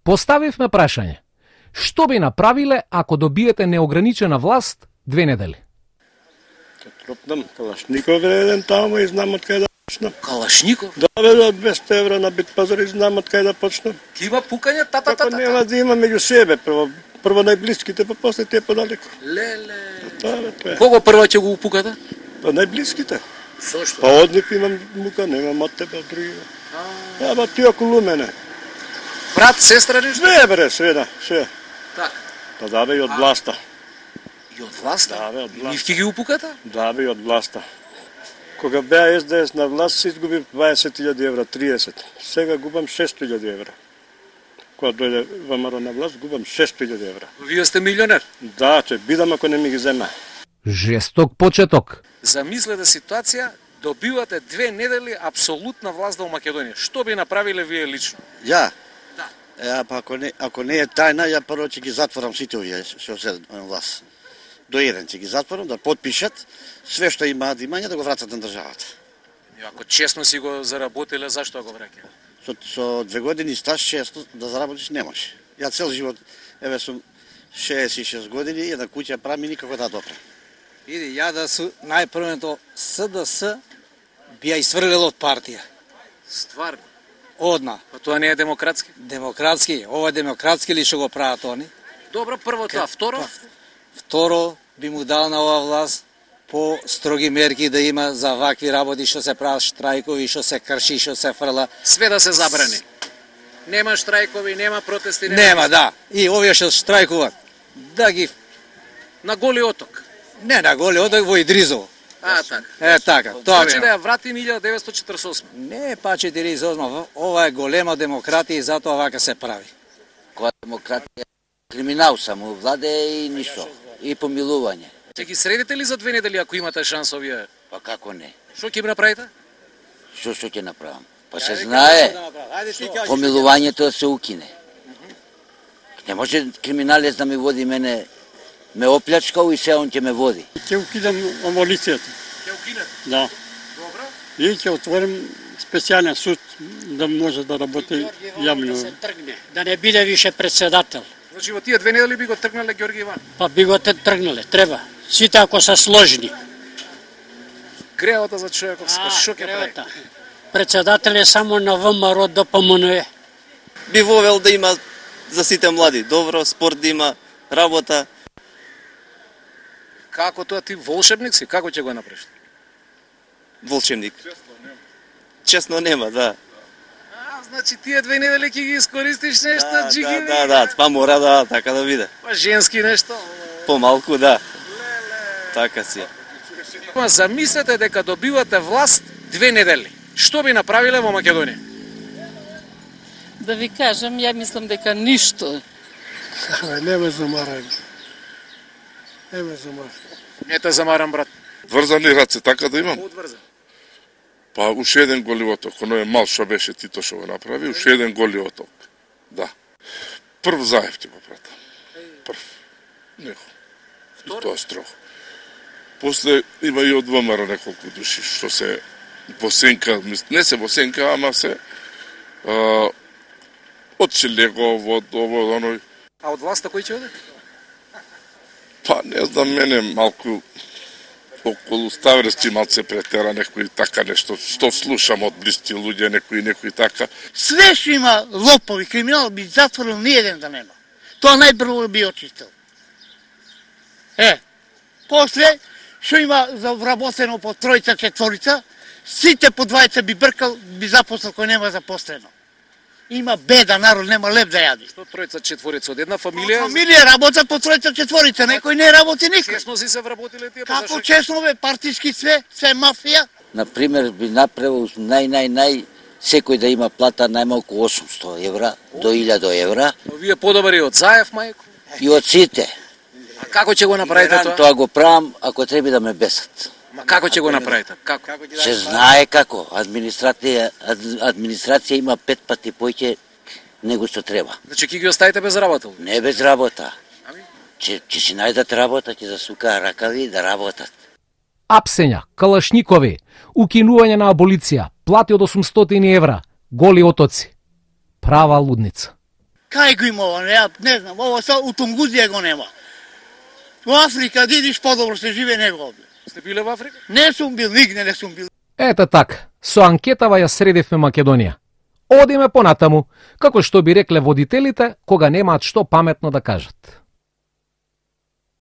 Поставивме прашање. Што би направиле ако добиете неограничена власт 2 недели? Тропнам Калашников еден таму и знам од кај да почнам. Калашников? Да, бе, 200 евра на бит пазар и знам од кај да почнам. Ти има пукање, тата. Како нема да има меѓу себе, прво најблиските, па после тие подалеку. Леле. Да, Кого прво ќе го упукате? Па најблиските. Зошто? Па од нив имам мука, немам од тебе, од други. Ама ти околу мене. Брат, сестра нешто? Не, бре, све. Така. Па да, бе, и од власта. И од власта? Да, бе, од власта. Нив ќе ги упукате? Да, бе, од власта. Кога беа СДС на власт, се изгубив 20.000 евра, 30. Сега губам 6.000 евра. Кога дојде ВМРО на власт, губам 6.000 евра. Вие сте милионер? Да, ќе бидам ако не ми ги зема. Жесток почеток. Замислете ситуација, добивате 2 недели апсолутна власт во Македонија. Што би направиле вие лично? Ја? Да. Па ако не е тајна, ја прво ќе ги затворам сите овие што се на власт. До еден ќе ги затворам, да подпишат све што имаат имање да го вратат на државата. Ако честно си го заработиле, зашто го враќа? Со 2 години стаж често да заработиш не може. Ја цел живот, еве сум 66 години, една куќа правам и никако да допрем. Види, ја да су најпрвото СДС би ја исфрлил од партија. Стварно? Одна. Па тоа не е демократски? Демократски, ова демократски ли што го прават они? Добро, прво тоа, второ? Второ, би му дал на оваа власт по строги мерки да има за вакви работи што се прават штрајкови, што се крши, што се фрла. Све да се забрани. Нема штрајкови, нема протести, нема, да. И овие што штрајкуваат, да ги на Голи оток. Не на Голи оток, во Идризово. Така. Е така. Тоа значи да ја вратим 1948. Не, па 48. Ова е голема демократија и затоа вака се прави. Која демократија? Криминал само владе и ништо. И помилување. Ќе ги средите ли за 2 недели ако имате шанс овие? Па како не? Што ќе направите? Што ќе направам? Па се знае, помилувањето се укине. Не може криминалец да ми води мене, ме оплячкал и се он ќе ме води. Ќе укидам амолицијата. Ќе укинете? Да. Добро. И ќе отворим специјален суд да може да работи јавно. Да не биде више председател. Значи во тие 2 недели би го тргнале Ѓорги Иван. Па би го тргнале, треба. Сите ако се сложни. Греota за човеков што ќе прави? Председател е само на ВМРО ДПМНЕ. Би вовел да има за сите млади, добро, спорт да има, работа. Како тоа ти волшебник си? Како ќе го направиш? Волшебник. Честно нема, да. Значи тие 2 недели ќе ги искористиш нешто, джиги. Да, па мора да така да биде. Па женски нешто. Помалку, да. Така си. Замислете дека добивате власт 2 недели. Што би направиле во Македонија? Да ви кажам, ја мислам дека ништо. Не ме замарам. Не те замарам, брат. Врзани раце, така да имам? Одврзан. Па уште еден голи оток, оној мал што беше Тито што го направи, уште еден голи оток. Да. Прв Заев ќе го пратам. Прв. Него. И тоа строго. После има и од ВМРО неколку души што се во сенка, не се во сенка, ама се од Челегов, од ово, оној. А од власта кој ќе оде? Па не знам, мене малку околу Ставрести малце претера некои така нешто, што слушам од блиски луѓе, некои така. Све што има лопови, криминал би затворил, ни еден да нема. Тоа најпрво би очистил. После, што има вработено по тројца, четворица, сите по двајца би бркал, би запослал кој нема запослено. Има беда, народ нема леп да јади. Што тројца, четворица од една фамилија? Фамилија работат по тројца, четворица, некој не работи никој. Честно си се вработиле тие? Како честно бе, партиски све мафија. Например, би направил нај секој да има плата најмалку 800 евра до 1000 евра. Вие подобри од Заев, мајко? И од сите. А како ќе го направите тоа? Тоа го правам ако треба да ме бесат. Ма како ќе го направите? Како? Се знае како. Администрација има 5 пати поќе него што треба. Значи ќе ги оставите без работа? Не без работа. Ќе си најдат работа, ќе засукаа ракави да работат. Апсења, калашникови, укинување на аболиција, плати од 800 евра, голи отоци. Права лудница. Кај го има ова? Не знам, ова са у Тунгузија го нема. У Африка дидиш подобро се живе него овде. Сте биле во Африка? Не сум бил, нигде не сум бил. Ете така, со анкетава ја средивме Македонија. Одиме понатаму, како што би рекле водителите, кога немаат што паметно да кажат.